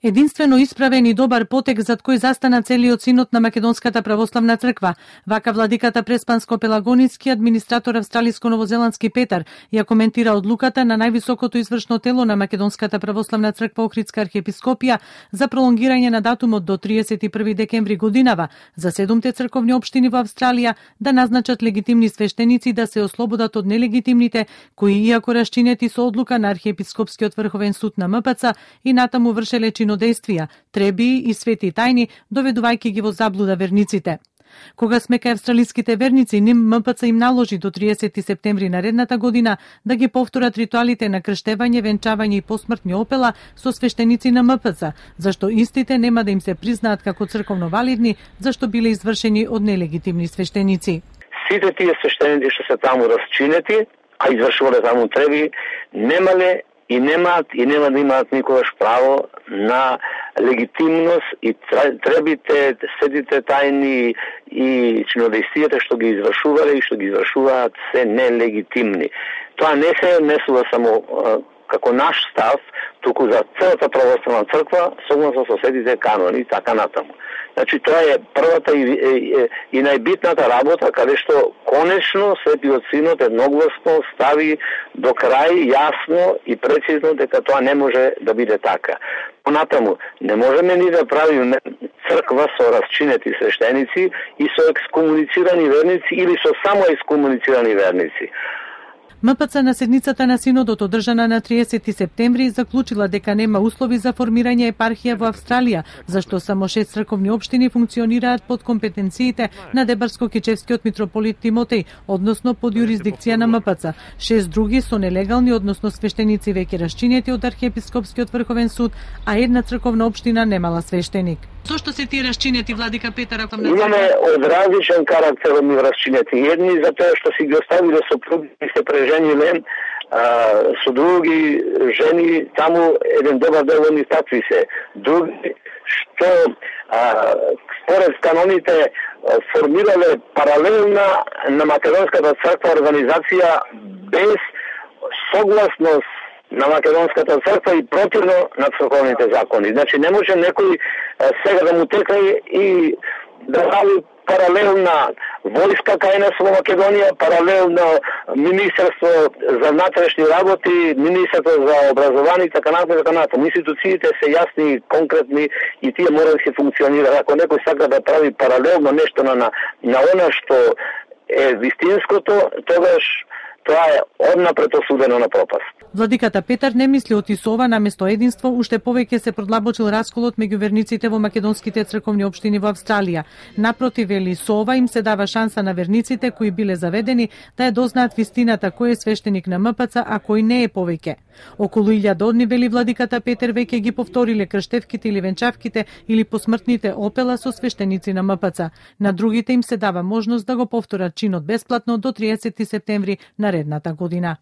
Единствено исправен и добар потек зад кој застана целиот синод на Македонската православна црква. Вака владиката Преспанско-Пелагоницки, администратор австралиско-новозеландски Петар, ја коментира одлуката на највисокото извршно тело на Македонската православна црква Охридска архиепископија за пролонгирање на датумот до 31 декември годинава за 7 црковни општини во Австралија да назначат легитимни свештеници да се ослободат од нелегитимните, кои иако расчинети со одлука на архиепископскиот врховен суд на МПЦ и натаму вршеле чинодејствија, треби и свети тајни, доведувајќи ги во заблуда верниците. Кога сме кај австралиските верници, МПЦ им наложи до 30 септември наредната година да ги повторат ритуалите на крштевање, венчавање и посмртни опела со свештеници на МПЦ, зашто истите нема да им се признаат како црковно валидни, зашто биле извршени од нелегитимни свештеници. Сите тие свештеници што се таму расчинети, а извршувале таму треби, немале и нема да имаат никогаш право на легитимност и требите, светите тајни и чинодејствијата што ги извршувале и што ги извршуваат се нелегитимни. Тоа не се однесува само како наш став, туку за целата православна црква, согласно со светите канони и така натаму. Значи, тоа е првата и најбитната работа, каде што конечно Светиот Синод едногласно стави до крај јасно и прецизно дека тоа не може да биде така. Понатаму, не можеме ни да правиме црква со расчинети свештеници и со екскомуницирани верници или со само екскомуницирани верници. МПЦ на седницата на Синодот одржана на 30 септември заклучила дека нема услови за формирање епархија во Австралија, зашто само 6 црковни општини функционираат под компетенциите на Дебарско-Кичевскиот митрополит Тимотеј, односно под јурисдикција на МПЦ. 6 други со нелегални, односно свештеници веќе расчинети од архиепископскиот врховен суд, а една црковна општина немала свештеник. Зошто се тие расчинети, владика Петар? Имаме од различен карактер од расчинети. Едни затоа што си ги оставиле сопруги и се прежениле со други жени, таму еден добар дел од нив такви се. Други што според каноните формирале паралелна на Македонската црква организација без согласност на Македонската црква и противно на црковните закони. Значи не може некој сега да му текне и да прави паралелна војска кај нас во Македонија, паралелно Министерство за внатрешни работи, Министерство за образование и така натаму. Институциите се јасни и конкретни и тие мора да се функционираат. Ако некој сака да прави паралелно нешто на она што е вистинското, тогаш тоа е однапред осудено на пропаст. Владиката Петар не мисли отисова наместо единство, уште повеќе се продлабочил расколот меѓу верниците во македонските црковни општини во Австралија. Напротив, вели, со ова им се дава шанса на верниците кои биле заведени да ја дознаат вистината кој е свештеник на МПЦ, а кој не е повеќе. Околу 1000 одни, вели владиката Петар, веќе ги повториле крштевките или венчавките или посмртните опела со свештеници на МПЦ. На другите им се дава можност да го повторат чинот бесплатно до 30 септември наредната година.